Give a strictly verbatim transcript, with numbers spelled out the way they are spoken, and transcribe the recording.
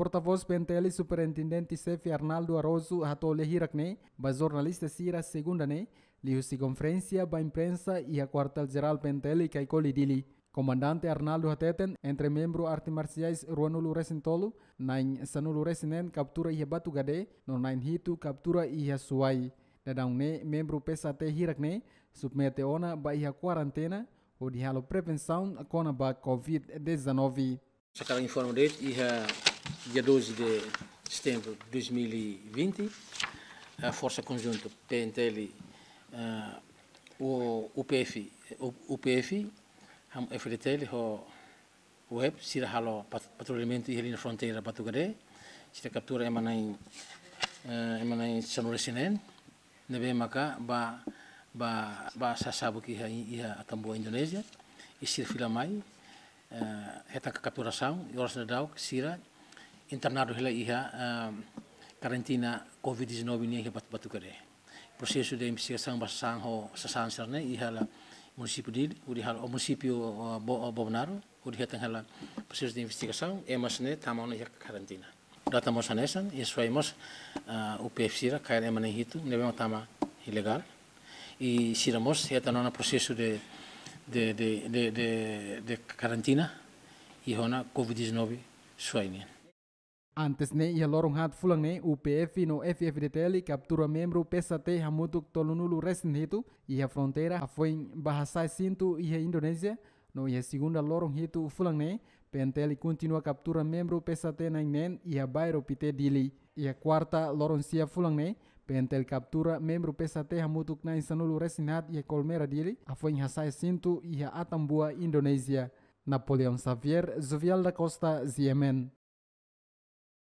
Portavós P N T L Superintendente Xefe Arnaldo Araújo hato'o lia hirak ne'e ba jornalista sira segunda ne'e, liuhusi konferénsia ba imprensa iha Kuartél Jerál P N T L Caicoli Dili. Komandante Arnaldo hateten, entre membru arte marsiais ruanulu resin tolu, na'in sanulu resin neen kaptura iha Batugade, no na'in hitu kaptura iha Suai. Dadaun ne'e membru P S A T hirak ne'e submete ona ba iha kuarentena, hodi halo prevensaun kona-ba covid dezanove. Sakarak informa de'it, iha dia doze de setembro de dois mil e vinte, a Forsa Konjunta P N T L, eh, o U P F, o U P F, ham F D T L ho web, sira halo pat-, patrullamentu iha liña fronteira Batugade, sira kaptura ema na'in, eh, ema na'in sanulu resin neen, ne'ebé maka ba, ba, ba sasabuk iha, iha Atambua Indonézia, i sira fila mai, eh, hetan kapturasaun, i oras daudaun sira internadu hela iha, eh, karantina covid dezanove nian iha Bat-, Batugade. Prosesu de investigasaun ba sasán ho sasán sira-ne'e iha hela munisípiu Dili, hodi halo, o munisípiu, o, Bo-, o Bobonaro, hodi hetan hela prosesu de investigasaun, ema sira-ne'e tama ona iha karantina. Data mós hanesan, iha Suai mós, ah, U P F sira kaer ema na'in hitu, ne'ebé mak tama ilegál. I sira mós hetan ona prosesu de, de, de karantina, iha ona covid dezanove Suai nian. Antes ne'e, iha loron haat fulan ne'e, U P F no F F D T L kaptura membru P S A T hamutuk tolunulu resin hitu, iha fronteira hafoin ba hasa'e sintu iha Indonézia, no iha segunda loron hitu fulan ne'e, P N T L kontinua kaptura membru P S A T na'in neen iha bairru Pité Dili. Iha kuarta loron sia fulan ne'e, P N T L kaptura membru P S A T hamutuk na'in sanulu resin haat iha Colmera Dili, hafoin hasa'e sintu iha Atambua Indonézia. Napoleão Xavier, Jovial da Costa, G M N.